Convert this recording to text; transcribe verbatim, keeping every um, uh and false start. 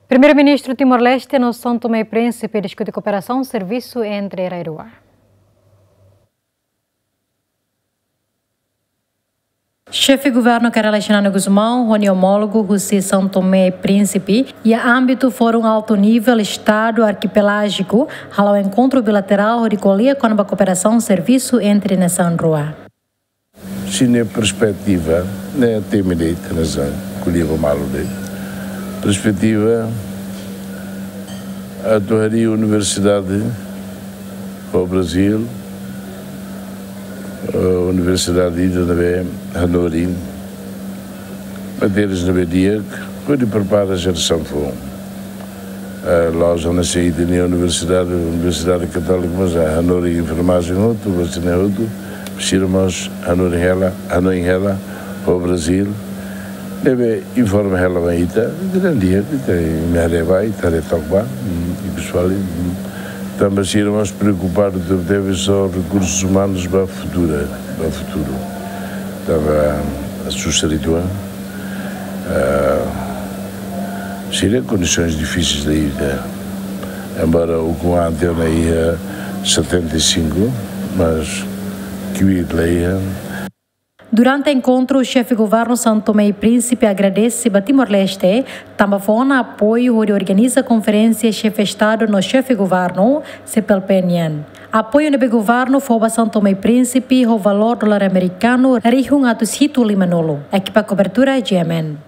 Primeiru-Ministru Timor-Leste no São Tomé e Príncipe diskute kooperasaun servisu entre rai rua. Xefe Governu Kay Rala Xanana Gusmão ho nia omólogu husi São Tomé e Príncipe iha ámbitu Fórum Altu Nivel Estadu Arkipelájiku hala'o enkontru bilaterál hodi ko'alia kona-ba kooperasaun servisu entre nasaun rua. Sira-nia perspetiva, ne'e temi de'it, ne'e sa, ko'alia ba malu de'it. Perspetiva atu harii universidade ba Brazil, eh, universidade ida ne'ebé hanorin matérias ne'ebé di'ak, hodi prepara jerasaun foun. Eh, la'ós hanesan ita-nia universidade, Universidade Katólika, mas, eh, hanorin enfermajen hotu, vazia hotu, sira mós hanorin hela, hanoin hela, ba Brazil, ne'ebé informa hela ba ita, ita dehan di'ak, ita imi haree ba, ita haree took ba, mm, i pesoál, mm, tanba sira mós preokupadu tebetebes ho rekursus umanus ba futuru, ba futuru. Tanba, eh, susar uitoan, eh, sira kondisoens difisil la iha, embora ukun an tiha ona iha setenta e cinco, mas kbiit la iha. Durante enkontru, Xefe Governu São Tomé e Príncipe agradese ba Timor-Leste, tanba fó ona apoiu hodi organiza konferénsia Xefe Estadu no Xefe Governu, CPLP nian. Apoiu ne'ebé governu fó ba São Tomé e Príncipe ho valór dolar amerikanu rihun atus hitu lima-nulu. Ekipa kobertura, G M N.